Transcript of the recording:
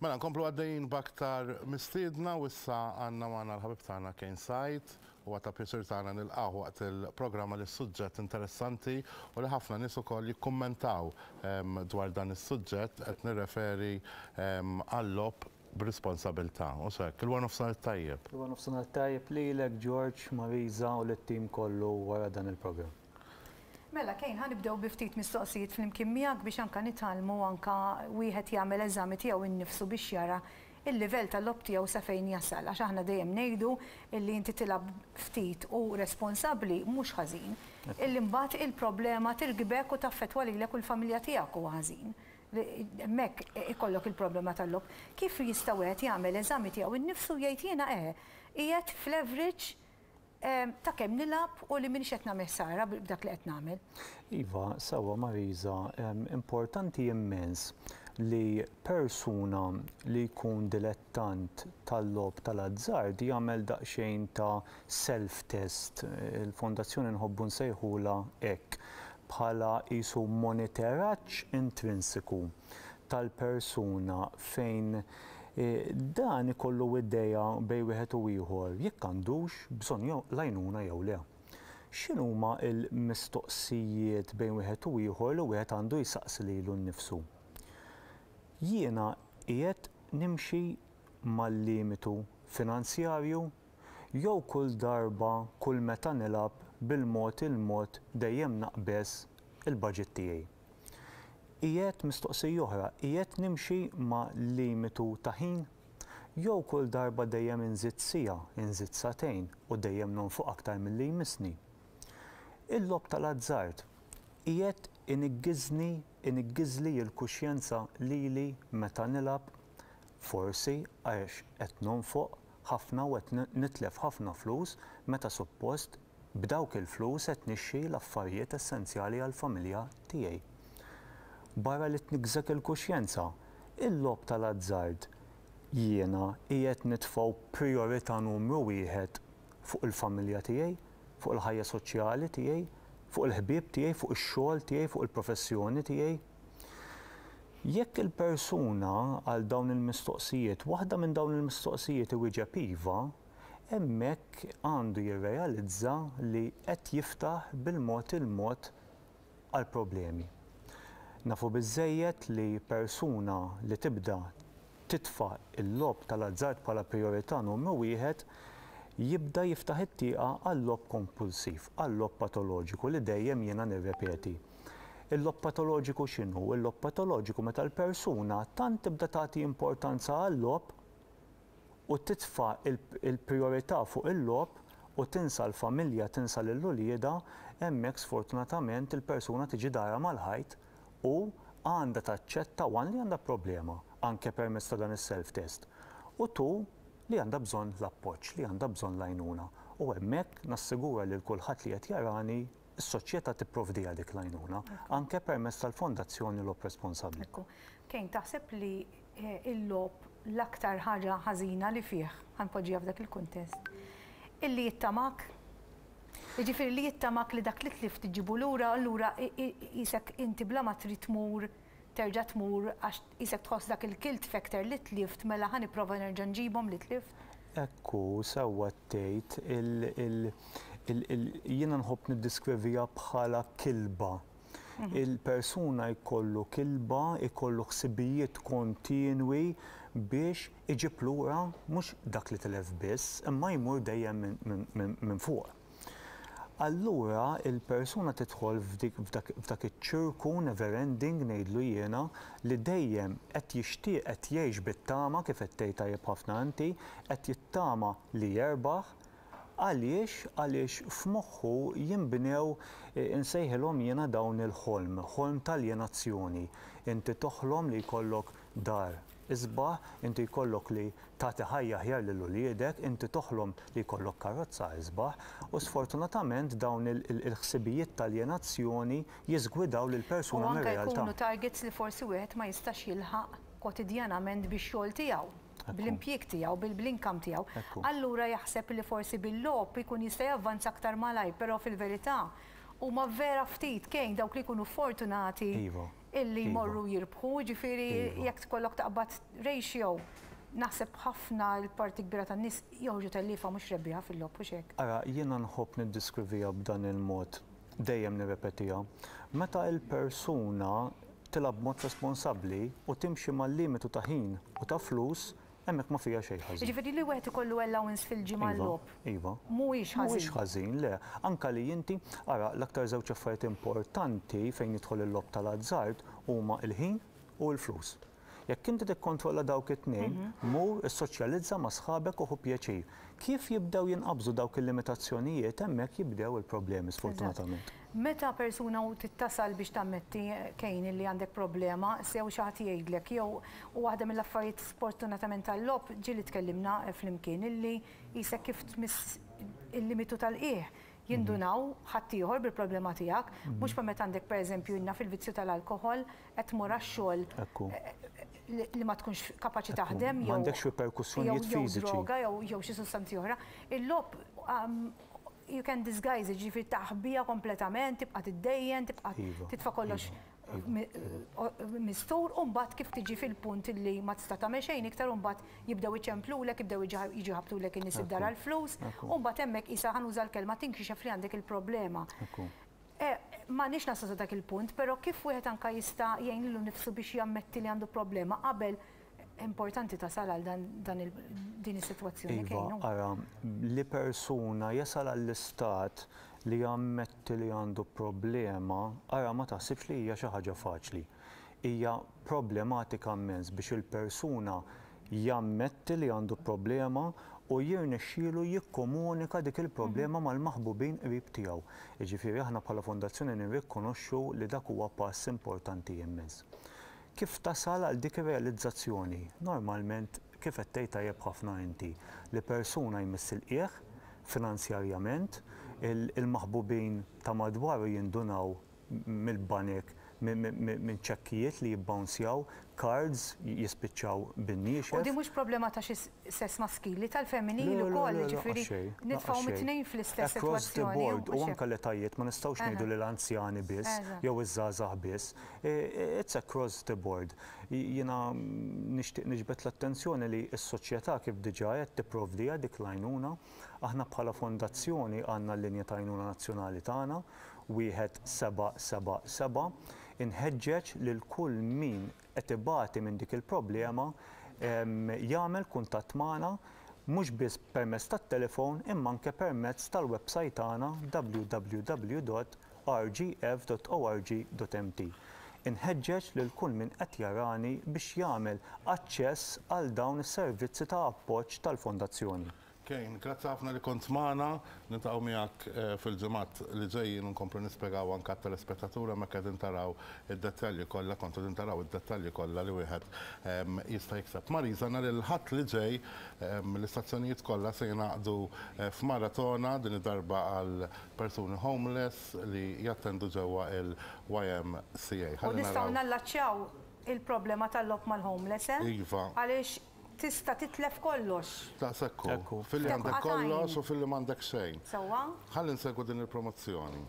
Mela nkomplu għaddejjin b'aktar mistiedna u issa għandna magħna l-ħabib tagħna Kane Said. Huwa ta' pjaċir tagħna nilqgħuh waqt il-programm għaliex suġġett interessanti u li ħafna nies ukoll jikkummentaw dwar dan is-suġġett qed nirreferi għal-logħob b'responsabilità. U hekk, il-wara nofsinhar it-tajjeb. Il-wara nofsinhar it-tajjeb lilek George, Marisa u lit-tim kollu wara dan il-programm. Mela Kane, ħa nibdew bi ftit mistoqsijiet flimkien miegħek biex anke nitgħallmu anke wieħed jagħmel eżami tiegħu nnifsu biex jara l-livell tal-logħob tiegħu sa fejn jasal għax aħna dejjem ngħidu illi inti tilgħab ftit u responsabbli mhux ħażin. Illi mbagħad il-problema tirkbek u taffettwa lilek u l-familja tiegħek huwa ħażin. Hemmhekk ikollok il-problema tal-logħob. Kif jista' wieħed jagħmel eżami tiegħu nnifsu u jgħid jiena eħe, qiegħed fl-average ta' kemm nilgħab u li m'iniex qed nagħmel ħsara b'dak li qed nagħmel. Iva, sewwa Marisa, importanti immens li persuna li jkun dilettant tal-logħob tal-azzard jagħmel daqsxejn ta' self-test, il-fondazzjoni nħobbu nsejħulha hekk, bħala qisu moniteraġġ intrinsiku tal-persuna fejn dan ikollu idea bejn wieħed u ieħor jekk għandux bżonn l-għajnuna jew le. X'inhuma l-mistoqsijiet bejn wieħed u ieħor li wieħed għandu jsaqsi lilu nnifsu? Jiena qiegħed nimxi mal-limitu finanzjarju jew kull darba kull meta nilgħab bil-mod il-mod dejjem naqbeż il-baġit tiegħi? Qiegħed, mistoqsija oħra, qiegħed nimxi ma' limitu ta' ħin? Jew kull darba dejjem inżid siegħa, inżid sagħtejn u dejjem nonfoq aktar milli jmissni? Il-logħob tal-azzard qiegħed iniggiżni, iniggiżli l-kuxjenza lili meta nilgħab? Forsi għax qed nonfoq ħafna u qed nitlef ħafna flus meta suppost B'dawk il-flus qed nixtri l-affarijiet essenzjali għall-familja tiegħi. Barra li tniggżek il-kuxjenza, il-logħob tal-azzard jiena qiegħed nitfgħu prijorità numru wieħed fuq il-familja tiegħi, fuq il-ħajja soċjali tiegħi, fuq il-ħbieb tiegħi, fuq ix-xogħol tiegħi, fuq il-professjoni tiegħi? Jekk il-persuna għal dawn il-mistoqsijiet, waħda minn dawn il-mistoqsijiet iwieġeb iva, hemmhekk għandu jirrealizza li qed jiftaħ bil-mod il-mod għall-problemi. Nafu biżżejjed li persuna li tibda titfa' l-logħob tal-azzard bħala prijorità numru wieħed jibda jiftaħ it-tieqa għal-logħob kompulsiv, għal-logħob patoloġiku li dejjem jiena nirrepeti. Il-logħob patoloġiku x'inhu? Il-logħob patoloġiku meta l-persuna tant tibda tagħti importanza għal-logħob u titfa' l-prijorità fuq il-logħob u tinsa l-familja, tinsa lil uliedha, hemmhekk sfortunatament il-persuna tiġi darha mal-ħajt u għandha taċċetta one li għandha problema, anke permezz ta' dan is-self test, u two li għandha bżonn l-appoġġ, li għandha bżonn l-għajnuna. U hemmhekk nassigura lil kulħadd li qed jarani s-soċjetà tipprovdiha dik l-għajnuna, anke permezz tal-Fondazzjoni Logħob Responsabbli. Ekku. Kane, taħseb li l-logħob l-aktar ħaġa ħażina li fih, ħa npoġġiha f'dak il-kuntest, illi jittamak? Jiġifieri li jittamak li dak li tlift iġġibu lura, allura qisek inti bla ma trid tmur terġa' tmur għax qisek tħoss dak il-guilt factor li tlift mela ħa nipprova nerġa' nġibhom li tlift? Ekku, sewwa tgħid, il, il, il, jiena nħobb niddeskriviha bħala kilba. Il-persuna jkollu kilba, ikollu ħsibijiet kontinwi biex iġib lura mhux dak li tilef biss, imma jmur dejjem minn fuq. Allura il-persuna tidħol f'dak iċ-ċirku never ending ngħidlu jiena li dejjem qed jixtieq qed jgħix bit-tama kif qed tgħid tajjeb ħafna inti, qed jittama li jerbaħ. Għaliex? Għaliex f'moħħu jinbnew insejħilhom jiena dawn il-ħolm, ħolm t'aljenazzjoni. Inti toħlom li jkollok dar isbaħ, inti jkollok li tagħti ħajja aħjar lil uliedek, inti toħlom li jkollok karozza isbaħ, u sfortunatament dawn il-ħsibijiet t'aljenazzjoni jiżgwidaw lill-persuna U anke mir-realtà. jkunu targets li forsi wieħed ma jistax jilħaq kwotidjanament bix-xogħol tiegħu, bl-impjieg tiegħu, bl-income tiegħu. Allura jaħseb li forsi bil-logħob ikun jista' javvanza aktar malajr, però fil-verità huma vera ftit, Kane, dawk li jkunu fortunati. illi jmorru jirbħu, jiġifieri jekk tkollok taqbad ratio, naħseb ħafna l-parti kbira tan-nies joħorġu telliefa mhux rebbieħa fil-logħob, hux hekk? Ara, jiena nħobb niddeskriviha b'dan il-mod, dejjem nirrepetiha. Meta l-persuna tilgħab b'mod responsabbli u timxi mal-limitu ta' ħin u ta' flus, hemmhekk ma fiha xejn ħażin. Jiġifieri li wieħed ikollu allowance fil-ġimgħa għal-logħob mhuwiex ħażin. Mhuwiex ħażin, le. Anke li inti, ara, l-aktar żewġ affarijiet importanti fejn jidħol il-logħob tal-azzard huma l-ħin u l-flus. Jekk inti tikkontrolla dawk it-tnejn, mur issoċjalizza ma' sħabek u ħu pjaċir. Kif jibdew jinqabżu dawk il-limitazzjonijiet, hemmhekk jibdew il-problemi sfortunatament. Meta persuna u trid tasal biex tammetti, Kane, illi għandek problema, sew xi ħadd jgħidlek jew, u waħda mill-affarijiet sfortunatament tal-logħob, ġieli tkellimna flimkien, illi qisek kif tmiss il-limitu tal-qiegħ, jindunaw ħaddieħor bil-problema tiegħek, mhux bħal meta għandek pereżempju ilna fil-vizzju tal-alkoħol, qed tmur għax-xogħol li ma tkunx kapaċi taħdem jew M'għandekx riperkussjonijiet fiżiċi. Jew droga jew xi sustanzi oħra. Il-logħob you can disguise it, jiġifieri taħbiha kompletament, tibqa' tiddejjen, tibqa' titfa' kollox mistur u mbagħad kif tiġi fil-punt li ma tista' tagħmel xejn iktar u mbagħad jibdew iċemplulek, jibdew jiġu jħabbtulek in-nies id-dar għall-flus u mbagħad hemmhekk qisha ħa nuża l-kelma tinkixef li għandek il-problema. M'għandniex naslu sa dak il-punt, però kif wieħed anke jista' jgħin lilu nnifsu biex jammetti li għandu problema qabel importanti tasal għal dan din is-sitwazzjoni Iva, ara, li persuna jasal għall-istat li jammetti li għandu problema, ara ma taħsibx li hija xi ħaġa faċli. Hija problematika immens biex il-persuna jammetti li għandu problema u jirnexxielu jikkomunika dik il-problema mal-maħbubin qrib tiegħu. Jiġifieri aħna bħala fondazzjoni nirrikkonoxxu li dak huwa pass importanti immens. Kif tasal għal dik ir-realizzazzjoni? Normalment, kif qed tgħid tajjeb ħafna inti, li persuna jmiss il-qiegħ finanzjarjament, il-maħbubin ta' madwaru jindunaw mill-banek, minn ċekkijiet li jibbawnsjaw, cards jispiċċaw bin-niexef. U din mhux problema ta' xi sess maskili, tal-femminili wkoll, jiġifieri nitfgħuhom it-tnejn fl-istess sitwazzjoni. Across the board, u anke l-etajiet, ma nistgħux ngħidu li l-anzjani biss jew iż-żgħażagħ biss. It's across the board. Jiena nixtieq niġbed l-attenzjoni li s-soċjetà kif diġà għedt tipprovdiha dik l-għajnuna. Aħna bħala fondazzjoni għandna l-linja ta' għajnuna nazzjonali tagħna 1777, inħeġġeġ lil kull min qed ibati minn dik il-problema jagħmel kuntatt magħna mhux biss permezz tat-telefon imma anke permezz tal-websajt tagħna www.rgf.org.mt. Inħeġġeġ lil kull min qed jarani biex jagħmel aċċess għal dawn is-servizzi ta' appoġġ tal-Fondazzjoni. Kane, grazzi ħafna li kont magħna. Niltaqgħu miegħek fil-ġimgħat li ġejjin u nkomplu nispjegaw anke għat-telespettaturi hemmhekk qegħdin taraw id-dettalji kollha, kontu qegħdin taraw id-dettalji kollha li wieħed jista' jikseb. Marisa, nhar il-Ħadd li ġej l-istazzjonijiet kollha se jingħaqdu f'maratona din id-darba għal persuni homeless li jattendu ġewwa il-YMCA. U nistgħu nallaċċjaw il-problema tal-logħob mal-homeless, eh? Iva. Għaliex Tista' titlef kollox. Daqshekk hu. Filli għandek kollox u filli m'għandek xejn. Sewwa. Ħalli nsegwu din il-promozzjoni.